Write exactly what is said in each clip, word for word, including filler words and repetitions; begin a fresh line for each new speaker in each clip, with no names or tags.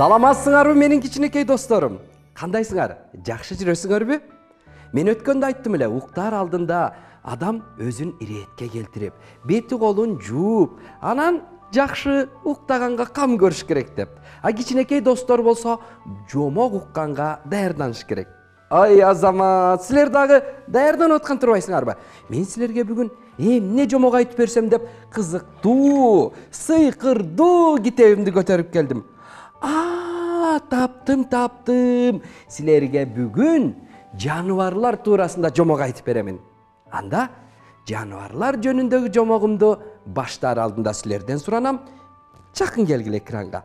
Саламатсыңарбы менин кичинекей досторум? Кандайсыңар? Жакшы жүрөсүңөрбү? Мен өткөндө айттым эле, уктар алдында адам өзүн иретке келтирип, бети колун жууп, анан жакшы уктаганга кам көрүш керек деп. А кичинекей достор болсо жомок укканга даярданыш керек. Ай азамат, силер дагы даярданып аткан турбайсыңарбы? Мен силерге бүгүн эмне жомок айтып берсем деп кызыктуу, сыйкырдуу китебимди көтөрүп келдим. А, таптым, таптым. Силерге бүгүн жаныбарлар туурасында жомок айтып беремин. Анда жаныбарлар жөнүндөгү жомогумду баштаар алдында силерден суранам. Жакын келгиле экранга.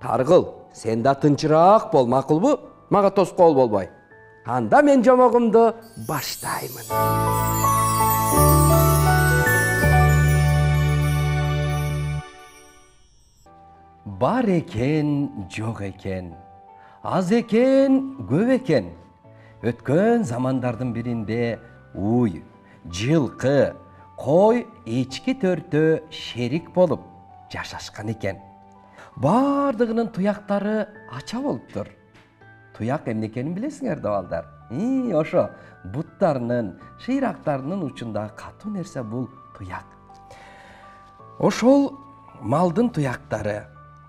Таргыл, сен да тынчыраак бол, макулбу? Мага тоскоол болбой. Анда мен жомогумду баштаймын. Бар экен, жок экен. Аз экен, көп экен. Өткөн замандардын биринде уй, жылкы, кой, эчки төртөө шерик болуп жашашкан экен. Бардыгынын туяктары ача болуптур. Туяк эмне экенин билесиңер да балдар? И, ошо буттарынын, шыйрактарынын учундагы катуу нерсе бул туяк. Ошол малдын туяктары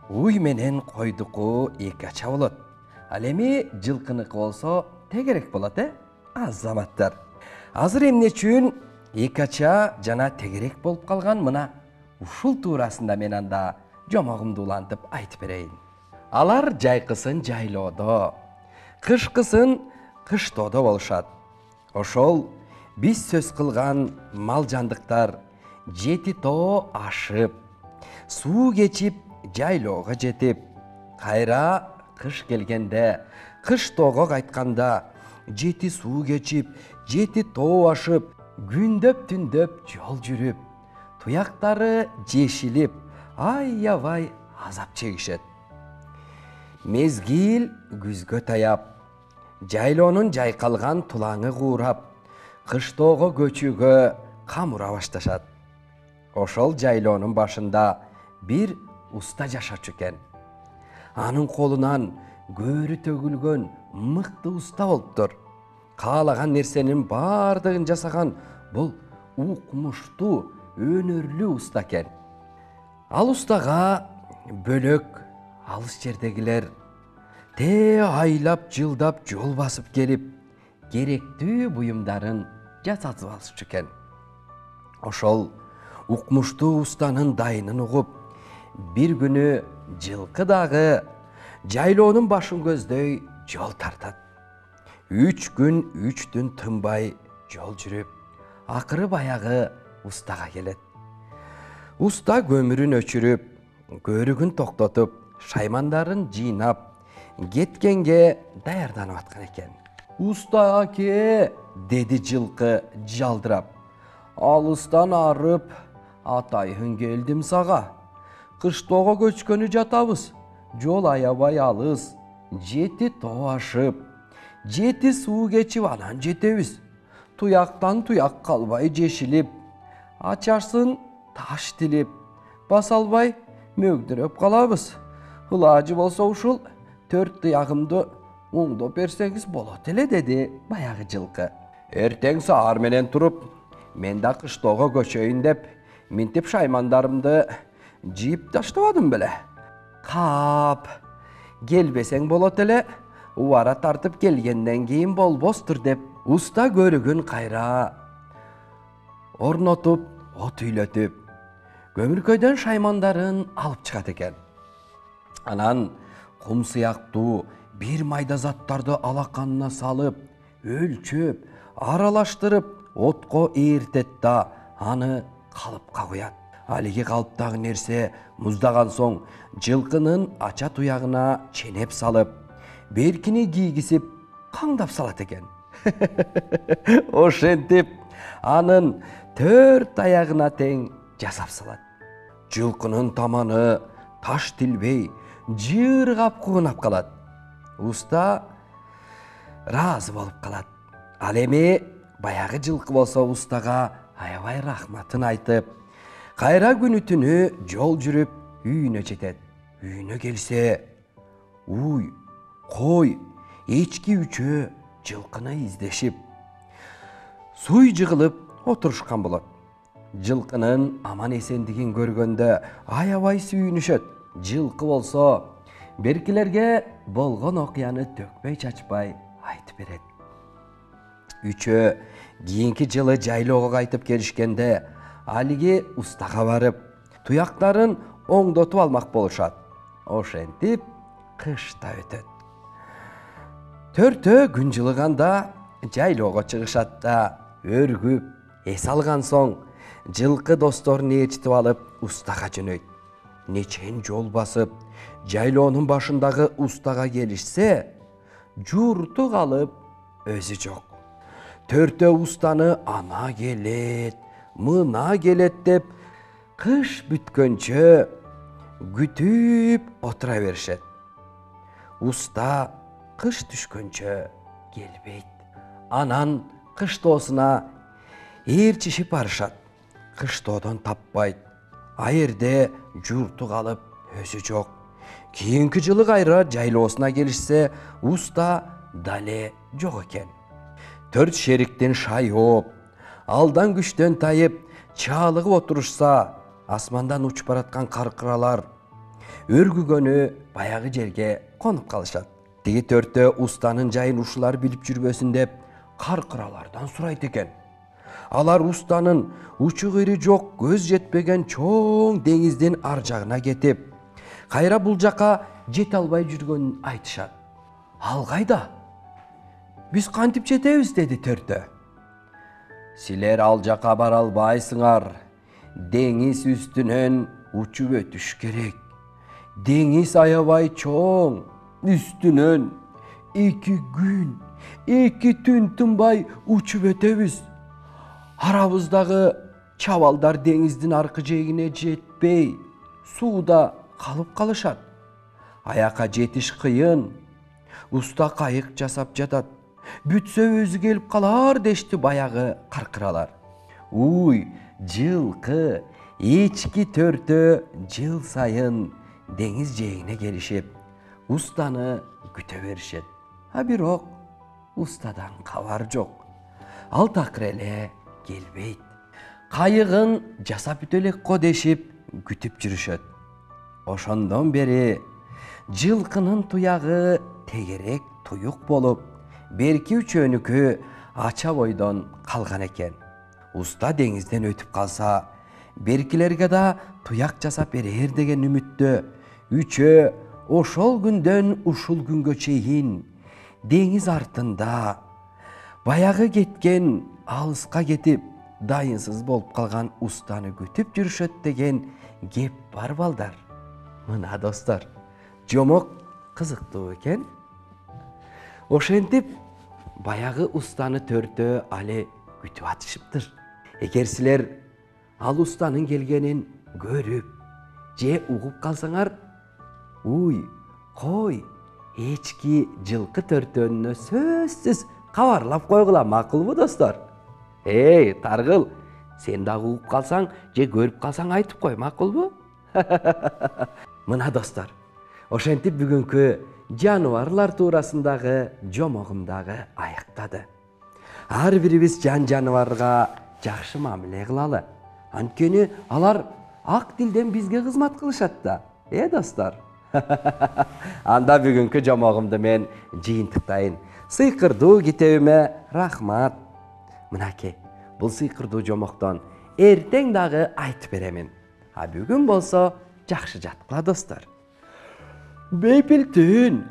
уй менен койдуку эки ача болот. Ал эми жылкыныкы болсо тегерек болот, э? Азаматтар. Азыр эмне үчүн эки ача жана тегерек болуп калган, мына ушул туурасында мен анда жомогумду улантып айтып берейин. Алар жайкысын жайлоодо, кышкысын кыштоодо болушат. Ошол биз сөз кылган мал жандыктар жети тоо ашып, суу кечип, жайлоого жетип, кайра кыш келгенде, кыштоого кайтканда, жети суу кечип, жети тоо ашып, күндөп түндөп жол жүрүп, туяктары жешилип, аябай азап чегишет. Мезгил күзгө таяп, жайлоонун жайкалган тулаңы куурап, кыштоого көчүүгө камыра башташат. Ошол жайлоонун башында бир уста жашачу экен. Анын колунан көөрү төгүлгөн мыкты уста болуптур. Каалаган нерсенин бардыгын жасаган бул укмуштуу, өнөрлүү уста экен. Ал устага бөлөк алыс жердегилер те айлап жылдап жол басып келип, керектүү буюмдарын жасатып алышчу экен. Ошол укмуштуу устанын дайынын угуп, бир күнү жылкы дагы жайлоонун башын көздөй жол тартат. Үч күн, үч түн тынбай жол жүрүп, акыры баягы устага келет. Уста көмүрүн өчүрүп, көрүгүн токтотуп, шаймандарын жыйнап, кеткенге даярданып аткан экен. Уста аке, деди жылкы жалдырап. Алыстан арып, атайын келдим сага. Кыштоого көчкөнү жатабыз. Жол аябай алыс. Жети тоо ашып, жети суу кечип анан жетебиз. Туяктан туяк калбай жешилип, ачарсын таш тилип, баса албай мөгдүрөп калабыз. Ылажы болсо ушул төрт туягымды оңдоп берсеңиз болот эле, деди баягы жылкы. Эртең саар менен туруп, мен да кыштоого көчөйүн деп, минтип шаймандарымды жыйып таштабадым беле. Кап, келбесең болот эле, убара тартып келгенден кийин болбостур деп, уста көрүгүн кайра орнотуп, от үйлөтүп, көмүркөдөн шаймандарын алып чыгат экен. Анан кум сыяктуу бир майда заттарды алаканына салып, өлчөп, аралаштырып, отко ээртет да аны калыпка куят. Алиги калыптагы нерсе муздаган соң жылкынын ача туягына ченеп салып, беркини кийгизип, каңдап салат экен. Ошентип, анын төрт аягына тең жасап салат. Жылкынын таманы таш тилбей, жыыргап куунап калат. Уста ыраазы болуп калат. Ал эми баягы жылкы болсо устага аябай рахматын айтып, кайра күнү түнү жол жүрүп үйүнө жетет. Үйүнө келсе, уй, кой, эчки үчөө жылкыны издешип суй жыгылып отурушкан болот. Жылкынын аман эсендигин көргөндө аябай сүйүнүшөт. Жылкы болсо беркилерге болгон окуяны төкпөй чачпай айтып берет. Үчөө кийинки жылы жайлоого кайтып келишкенде алиги устага барып туяктарын оңдотуп алмак болушат. Ошентип кыш да өтөт. Төртөө күн жылыганда жайлоого чыгышат да өргүп эс алган соң жылкы досторун ээрчитип алып устага жөнөйт. Нечен жол басып жайлоонун башындагы устага келишсе, журту калып өзү жок. Төртөө устаны ана келет, мына келет деп кыш бүткөнчө күтүп отура беришет. Уста кыш түшкөнчө келбейт. Анан кыштоосуна ээрчишип барышат. Кыштоодон таппайт. Айерде журту калып өзү жок. Кийинки жылы кайра жайлоосуна келишсе, уста дале жок экен. Төрт шериктин шайып, алдан күчтөн тайып, чаалыгып отурушса, асмандан учуп бараткан каркыралар өргүгөнү баягы жерге конуп калышат. Тиги төртөө устанын жайын ушулар билип жүрбөсүн деп каркыралардан сурайт экен. Алар устанын учу кыйры жок, көз жетпеген чоң деңиздин ар жагына кетип, кайра бул жака жете албай жүргөнүн айтышат. Ал кайда? Биз кантип жетебиз, деди төртөө. Силер ал жака бара албайсыңар. Деңиз үстүнөн учуп өтүш керек. Деңиз аябай чоң. Үстүнөн эки күн, эки түн тынбай учуп өтөбүз. Арабыздагы чабалдар деңиздин аркы жээгине жетпей, сууда калып калышат. Аяка жетиш кыйын. Уста кайык жасап жатат. Бүтсө өзү келип калар дешти баягы каркыралар. Уй, жылкы, эчки төртөө жыл сайын деңиз жээгине келишип, устаны күтө беришет. А бирок устадан кабар жок. Ал такыр эле келбейт. Кайыгын жасап бүтө элек го дешип күтүп жүрүшөт. Ошондон бери жылкынын туягы тегерек туюк болуп, берки үчөөнүкү ача бойдон калган экен. Уста деңизден өтүп калса, беркилерге да туяк жасап берер деген үмүттө үчөө ошол күндөн ушул күнгө чейин деңиз артында баягы кеткен, алыска кетип, дайынсыз болуп калган устаны күтүп жүрүшөт деген кеп бар балдар. Мына достор, жомок кызыктуу экен. Ошентип баягы устаны төртөө али күтүп атышыптыр. Эгер силер ал устанын келгенин көрүп же угуп калсаңар, уй, кой, эчки, жылкы төртөөнүнө сөзсүз кабарлап койгула, макулбу достор? Эй, Таргыл, сен дагы угуп калсаң же көрүп калсаң айтып кой, макулбу? Мына достор, ошентип бүгүнкү жаныбарлар туурасындагы жомогум дагы аяктады. Ар бирибиз жан жаныбарга жакшы мамиле кылалы. Анткени алар ак дилден бизге кызмат кылышат да. Э, достор? Анда бүгүнкү жомогумду мен жыйынтыктайын. Сыйкырдуу китебиме рахмат. Мынакей, бул сыйкырдуу жомоктон эртең дагы айтып беремин. А бүгүн болсо жакшы жаткыла достор. Бейпил түн.